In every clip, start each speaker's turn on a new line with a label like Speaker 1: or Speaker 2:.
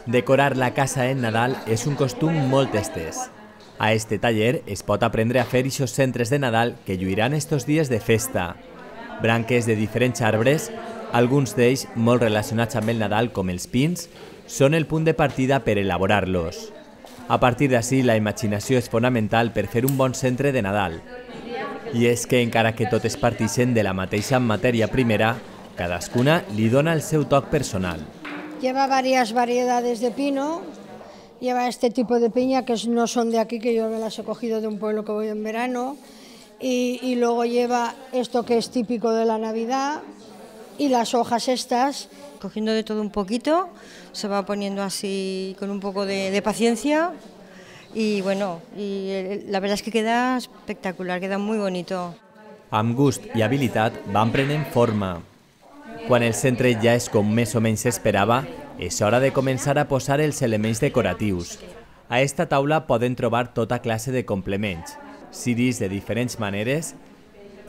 Speaker 1: Decorar la casa en Nadal és un costum molt estès. A este taller es pot aprendre a fer ixos centres de Nadal que lluiran estos dies de festa. Branques de diferents arbres, alguns d'ells molt relacionats amb el Nadal com els pins, són el punt de partida per elaborar-los. A partir d'ací, la imaginació és fonamental per fer un bon centre de Nadal. I és que, encara que totes partixen de la mateixa matèria primera, cadascuna li dona el seu toc personal.
Speaker 2: Lleva varias variedades de pino, lleva este tipo de piña que no son de aquí, que yo me las he cogido de un pueblo que voy en verano, y luego lleva esto que es típico de la Navidad y las hojas estas.
Speaker 3: Cogiendo de todo un poquito, se va poniendo así con un poco de paciencia y bueno, la verdad es que queda espectacular, queda muy bonito.
Speaker 1: Amb gust i habilitat van prenent forma. Quan el centre ja és com més o menys s'esperava, és hora de començar a posar els elements decoratius. A esta taula poden trobar tota classe de complements, ciris de diferents maneres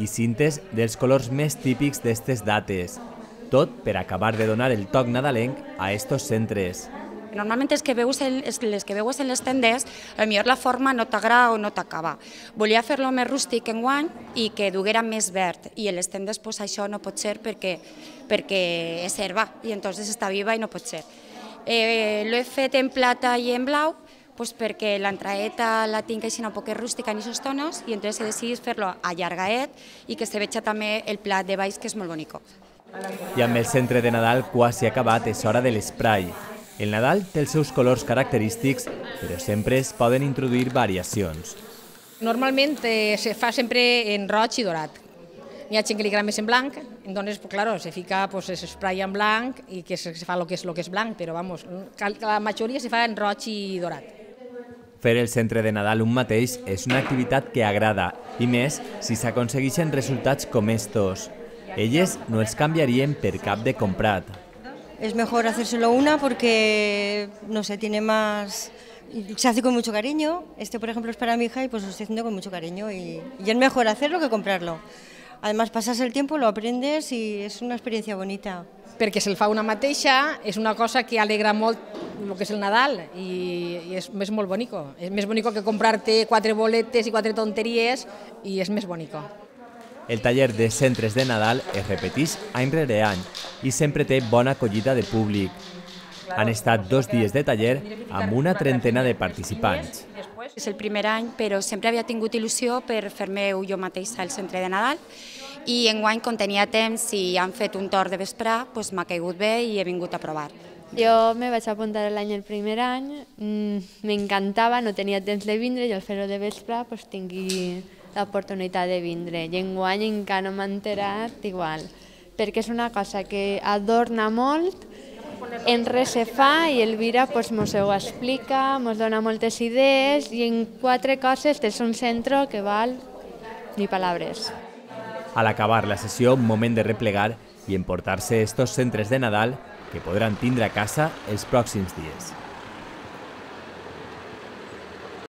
Speaker 1: i cintes dels colors més típics d'estes dates, tot per acabar de donar el toc nadalenc a estos centres.
Speaker 4: Normalment les que veus en les tendes, potser la forma no t'agrada o no t'acaba. Volia fer-lo més rústic enguany i que duguera més verd, i en les tendes això no pot ser perquè és herba i entonces està viva i no pot ser. L'he fet en plata i en blau perquè l'entraeta la tinc així un poc rústica en aquests tonos i entonces he decidit fer-lo allargaet i que se veja també el plat de baix, que és molt bonic.
Speaker 1: I amb el centre de Nadal quasi acabat és hora de l'esprai. El Nadal té els seus colors característics, però sempre es poden introduir variacions.
Speaker 5: Normalment se fa sempre en roig i dorat. N'hi ha gent que li agrada més en blanc, entonces, claro, se fica l'esprai en blanc i que se fa el que és blanc, però vamos, la majoria se fa en roig i dorat.
Speaker 1: Fer el centre de Nadal un mateix és una activitat que agrada, i més si s'aconsegueixen resultats com estos. Elles no els canviarien per cap de comprat.
Speaker 3: Es mejor hacérselo una porque, no sé, tiene más... Se hace con mucho cariño. Este, por ejemplo, es para mi hija y pues lo estoy haciendo con mucho cariño y es mejor hacerlo que comprarlo. Además, pasas el tiempo, lo aprendes y és una experiència bonita.
Speaker 5: Perquè se'l fa una mateixa, és una cosa que alegra molt el que és el Nadal i és molt bonico. És més bonico que comprar-te 4 boletes i 4 tonteries i és més bonico.
Speaker 1: El taller de centres de Nadal es repeteix any rere any i sempre té bona acollida de públic. Han estat 2 dies de taller amb una trentena de participants.
Speaker 4: És el primer any, però sempre havia tingut il·lusió per fer-me jo mateixa el centre de Nadal i enguany, com tenia temps i han fet un torn de vesprà, m'ha caigut bé i he vingut a provar.
Speaker 6: Jo me vaig apuntar el primer any, m'encantava, no tenia temps de vindre i al fer-ho de vesprà tingui l'oportunitat de vindre. I enguany encara no m'he enterat igual, perquè és una cosa que adorna molt, en res se fa i Elvira mos ho explica, mos dona moltes idees i en 4 coses és un centre que val ni paraules.
Speaker 1: A l'acabar la sessió, un moment de replegar i emportar-se estos centres de Nadal que podran tindre a casa els pròxims dies.